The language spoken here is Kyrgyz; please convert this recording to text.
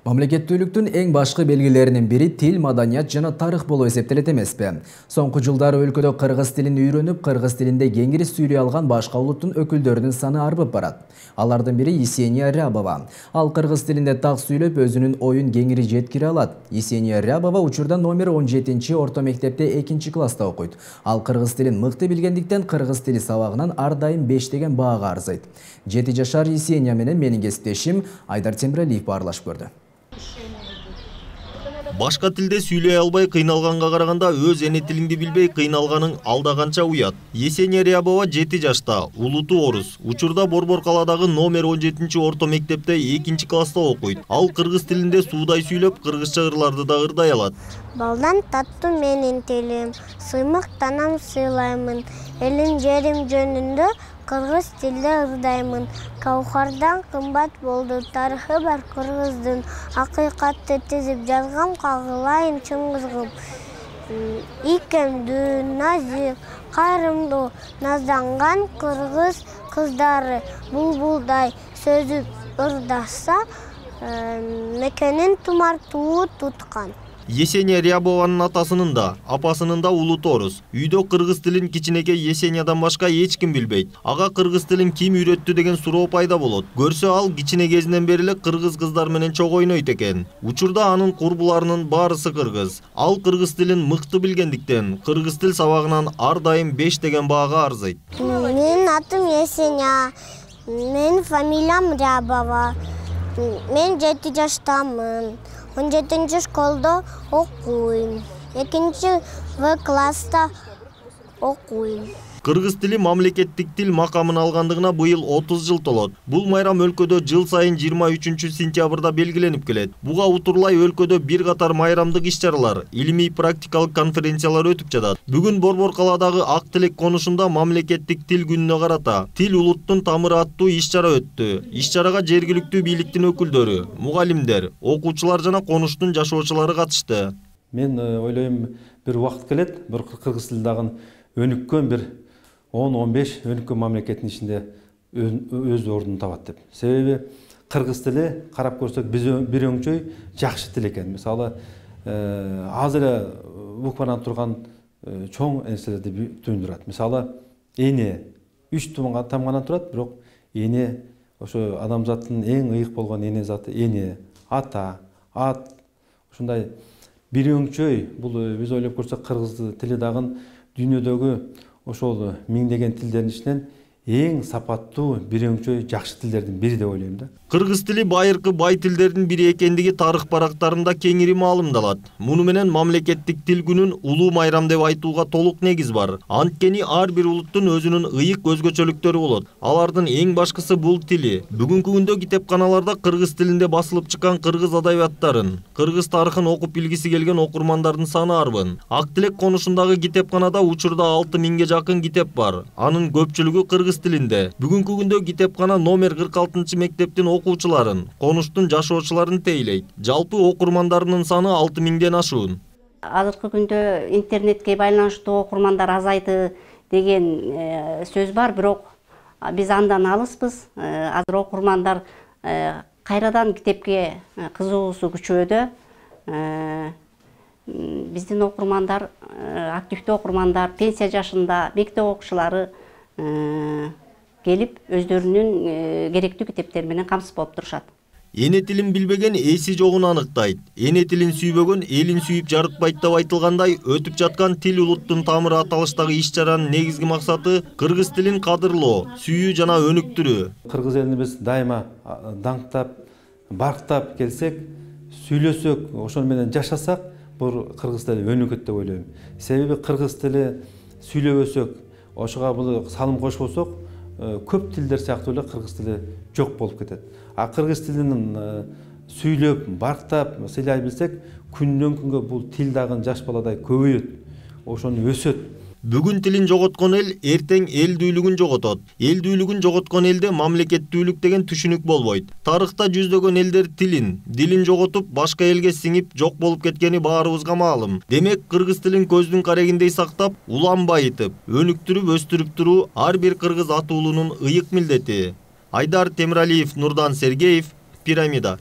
Мамлекеттүүлүктүн эң башкы белгилеринин бири тил, маданият жана тарых болуп эсептелет эмеспи? Соңку жылдары өлкөдө кыргыз тилин үйрөнүп, кыргыз тилинде кеңири сүйлөй алган башка улуттун өкүлдөрүнүн саны арбып барат. Алардын бири Есения Рябова. Ал кыргыз тилинде так сүйлөп, өзүнүн оюн кеңири жеткире алат. Есения Рябова учурда номер 17 орто мектепте 2-класста окуйт. Ал кыргыз тилин мыкты билгендиктен кыргыз тили сабагынан ар дайым 5 деген баага арзайт. 7 жашар Есения менен менин кесиптешим Айдар Темиралиев баарлашып көрдү. Башка тилде сүйлөй албай кыйналганга караганда өз эне тилиңди билбей кыйналганың алда канча уят. Есения Рябова 7 жашта, улуту орус. Учурда Борбор калаадагы номер 17 орто мектепте 2-класста окуйт. Ал кыргыз тилинде суудай сүйлөп, кыргызча ырларды да ырдай алат. Балдан таттуу менин тилим, сыймык танам сыйлаймын. Элим жерим жөнүндө кыргыз тилде ырдаймын. Каухардан кымбат болду тарыхы бар кыргыздын. Акыйкатты тизип жазгам кагылайын чын кызгым. Икемдүү, назик, кайрымдуу, назданган кыргыз кыздары булбулдай сөзүп ырдаса, мекенин тумартуу туткан. Есения Рябованын атасынын да, апасынын да улуту орус. Үйдө кыргыз тилин кичинекей Есениядан башка эч ким билбейт. Ага кыргыз тилин ким үйрөттү деген суроо пайда болот. Көрсө ал кичине кезинен бери эле кыргыз кыздар менен чогуу ойнойт экен. Учурда анын курбуларынын баарысы кыргыз. Ал кыргыз тилин мыкты билгендиктен кыргыз тил сабагынан ар дайым 5 деген баага арзайт. Менин атым Есения. Менин фамилиям Рябова. Мен 7 жаштамын. 17 школда окуйм. 2 класста окуйм. Кыргыз тили мамлекеттик тил макамын алгандыгына быйыл 30 жыл толот. Бул майрам өлкөдө жыл сайын 23-сентябрда белгиленип келет. Буга утурлай өлкөдө бир катар майрамдык иш-чаралар, илимий практикалык конференциялар өтүп жатат. Бүгүн Борбор калаадагы Ак Тилек конушунда мамлекеттик тил күнүнө карата Тил улуттун тамыры аттуу иш-чара өттү. Иш-чарага жергиликтүү бийликтин өкүлдөрү, мугалимдер, окуучулар жана конуштун жашоочулары катышты. Мен ойлойм, бир убакыт келет, bir кыргыз тили дагы өнүккөн бир 10-15 өнүккөн мамлекеттин ичинде өз ордун табат деп. Себеби кыргыз тили карап көрсөк бир өңчөй жакшы тил экен. Мисалы, азыр эле буквадан турган чоң нерселерди туюндурат. Мисалы, эне 3 тамгандан турат, бирок эне ошо адамзаттын эң ыйык болгон эне заты эне, ата, ат, ушундай бир өңчөй. Бул биз ойлоп көрсөк кыргыз тили дагы дүйнөдөгү ошол миңдеген тилдердин ичинен эң сапаттуу бир өңчөй жакшы тилдердин бири деп ойлойм да. Кыргыз тили байыркы бай тилдердин бири экендиги тарых барактарында кеңири маалымдалат. Муну менен мамлекеттик тил күнүн улуу майрам деп айтууга толук негиз бар. Анткени ар бир улуттун өзүнүн ыйык өзгөчөлүктөрү болот. Алардын эң башкысы бул тили. Бүгүнкү күндө китепканаларда кыргыз тилинде басылып чыккан кыргыз адабияттарын, кыргыз тарыхын окуп билгиси келген окурмандардын саны арбын. Ак Тилек конушундагы китепканада учурда 6000ге жакын китеп бар. Анын көпчүлүгү кыргыз тилинде. Бүгүнкү күндө китепкана номер 46 мектептин окуучуларын, конуштун жашоочуларын тейлейт. Жалпы окурмандарынын саны 6000ден ашуун. Азыркы күндө интернетке байланыштуу окурмандар азайды деген сөз бар, бирок биз андан алыспыз. Азыр окурмандар кайрадан китепке кызыгуусу күчөдө. Биздин окурмандар, активдүү окурмандар, пенсия жашында мектеп окуучулары келип өздөрүнүн керектүү китептери менен камсыз болуп турушат. Эне тилин билбеген эси жогун анықтайт. Эне тилин сүйбөгөн элин сүйүп жарытпайт деп айтылгандай, өтүп жаткан Тил улуттун тамыры аталыштагы иш-чаранын негизги максаты кыргыз тилин кадырлоо, сүйүү жана өнүктүрүү. Кыргыз элин биз дайыма даңктап, барктап келсек, сүйлөсөк, ошол менен жашасак, бул кыргыз тили өнүгөт деп ойлойм. Себеби кыргыз тили сүйлөбөсөк, ошого бул салым кошпосок, көп тилдер сыяктуу эле кыргыз тили жок болуп кетет. А кыргыз тилин сүйлөп, барктап, сыйлай билсек, күндөн күнгө бул тил дагы жаш баладай көбөйөт, ошону өсөт. Бүгүн тилин жоготкон эл эртең элдүүлүгүн жоготот. Элдүүлүгүн жоготкон элде мамлекеттүүлүк деген түшүнүк болбойт. Тарыхта жүздөгөн элдер дилин жоготуп, башка элге сиңип жок болуп кеткени баарыбызга маалым. Демек, кыргыз тилин көздүн карегиндей сактап, улам байытып, өнүктүрүп өстүрүп туруу ар бир кыргыз атуулунун ыйык милдети. Айдар Темиралиев, Нурдан Сергеев, Пирамида.